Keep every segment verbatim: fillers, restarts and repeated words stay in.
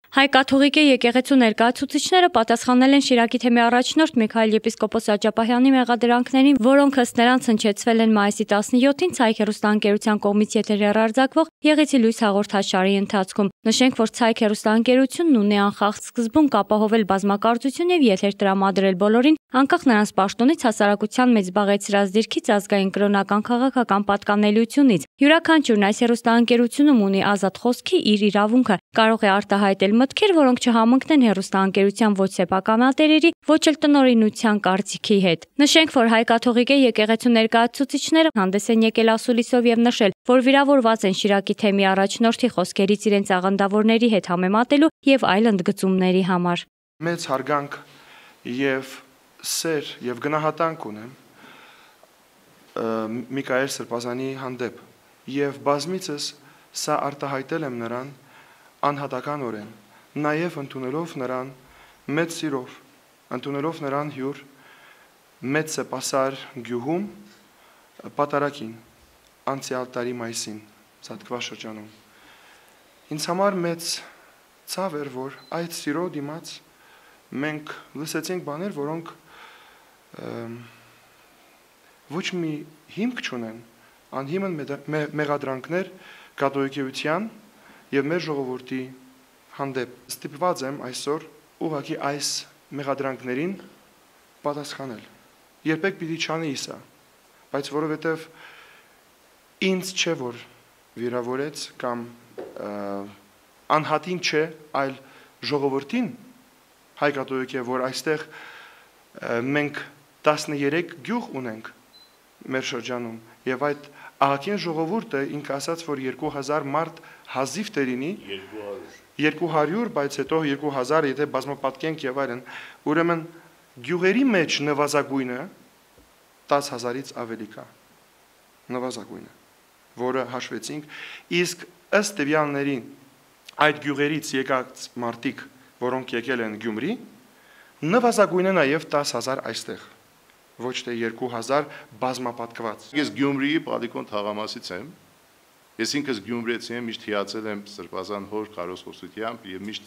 Հայ կաթողիկե եկեղեցու ներկայացուցիչները պատասխանել են Շիրակի թեմի առաջնորդ Միքայել եպիսկոպոս Աջափահյանի մեղադրանքներին, որոնք ըստ նրանց հնչեցվել են մայիսի տասնյոթին Ցայք հեռուստաընկերության կողմից եթեր հեռարձակվող Եղեցի լույս հաղորդաշարի ընթացքում։ Նշենք, որ Ցայք հեռուստաընկերությունն ունի անխախտ սկզբունք ապահովել բազմակարծություն եւ եթեր տրամադրել բոլորին, անկախ նրանց պաշտոնից, հասարակության մեջ զբաղեցրած դիրքից, ազգային կրոնական քաղաքական պատկանելիությունից։ Յուրաքանչյուրն այս հեռուստաընկերությունում ունի ազատ խոսքի իր իրավունքը, կարող է արտահայտել մտքեր, որոնք չհամընկնեն հեռուստաընկերության ոչ սեփականատերերի, ոչ էլ տնօրինության կարծիքի հետ։ Նշենք, որ Հայ կաթողիկե եկեղեցու ներկայացուցիչները հանդես են եկել ասուլիսով եւ նշել, որ վիրավորված են Շիրակի թեմի առաջնորդի խոսքերից իրենց աղանդավորների հետ համեմատելու եւ այլ ընդգծումների համար։ Մեծ հարգանք եւ սեր եւ գնահատանք ունեմ Միքայել Սրբազանի հանդեպ եւ բազմիցս սա արտահայտել եմ նրան անհատականորեն, նաև ընդունելով նրան մեծ սիրով, ընդունելով նրան հյուր մեծ սեպասար գյուղում պատարագին, անցյալ տարի մայիսին, Զատկվա շրջանում։ Ինձ համար մեծ ցավ էր, որ այդ սիրո դիմաց մենք լսեցինք բաներ, որոնք ոչ մի հիմք չունեն, անհիմն մեղադրանքներ կաթողիկեության եւ մեր ժողովրդի հանդեպ։ Ստիպված եմ այսօր ուղղակի այս մեղադրանքներին պատասխանել։ Երբեք պիտի չանի սա, բայց որովհետեւ ինձ չէ որ վիրավորեց կամ անհատին չէ, այլ ժողովրդին հայ կաթողիկե, որ այստեղ մենք տասներեք գյուղ ունենք մեր շրջանում եւ այդ ահագին ժողովուրդը ինքը ասաց, որ երկու հազար մարդ հազիվ տերինի երկու հարյուր, բայց հետո երկու հազար, եթե բազմապատկենք եւ այլն, ուրեմն գյուղերի մեջ նվազագույնը տասը հազարից ավելի կա։ Նվազագույնը, որը հաշվեցինք, իսկ ըստ տվյալների այդ գյուղերից եկած մարդիկ, որոնք եկել են Գյումրի, նվազագույնը նաեւ տասը հազար այստեղ, ոչ թե երկու հազար բազմապատկված։ Ես Գյումրիի Պալիկոն թաղամասից եմ։ Ես ինքս գյումրեցի եմ, միշտ հիացել եմ Սրբազան հոր քարոզխոսությամբ եւ միշտ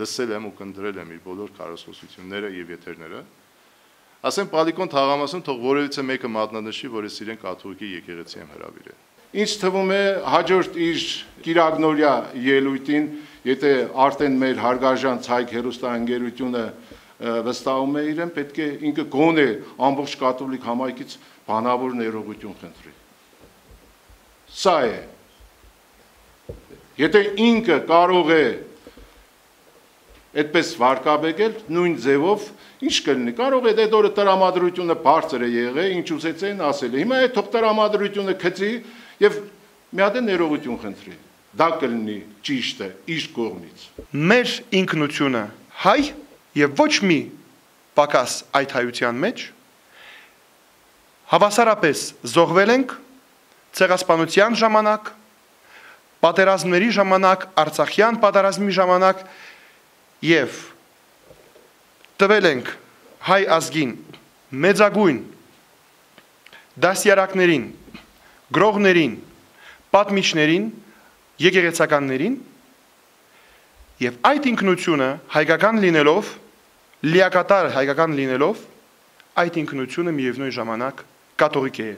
լսել եմ ու կնդրել եմ իր բոլոր քարոզխոսությունները եւ եթերները։ Ասեմ Պալիկոն թաղամասում թող որևիցե մեկը մատնանշի, որ ես իրեն կաթողիկե եկեղեցի եմ հրավիրել։ Ինչ թվում է հաջորդ իր Կիրակնորյա ելույթին, եթե արդեն մեր հարգարժան Ցայք հեռուստաընկերությունը վստահում է իրեն, պետք է ինքը գոնե ամբողջ կաթոլիկ համայնքից բանավոր ներողություն խնդրի։ Սա է։ Եթե ինքը կարող է այդպես վարկաբեկել, նույն ձևով, ինչ կլինի, կարող է այդ օրը տրամադրությունը բարձր է եղել, ինչ ուզեցին ասել է։ Հիմա այդ թող տրամադրությունը գցի եւ մի հատ ներողություն խնդրի։ Դա կլինի ճիշտը իր կողմից։ Մեր ինքնությունը հայ եւ ոչ մի պակաս այդ հայության մեջ հավասարապես զոհվել ենք ցեղասպանության ժամանակ, պատերազմների ժամանակ, Արցախյան պատերազմի ժամանակ եւ տվել ենք հայ ազգին մեծագույն դասյարակներին, գրողներին, պատմիչներին, եկեղեցականներին եւ այդ ինքնությունը հայկական լինելով, լիակատար հայկական լինելով, այդ ինքնությունը միևնույն ժամանակ կաթողիկ է։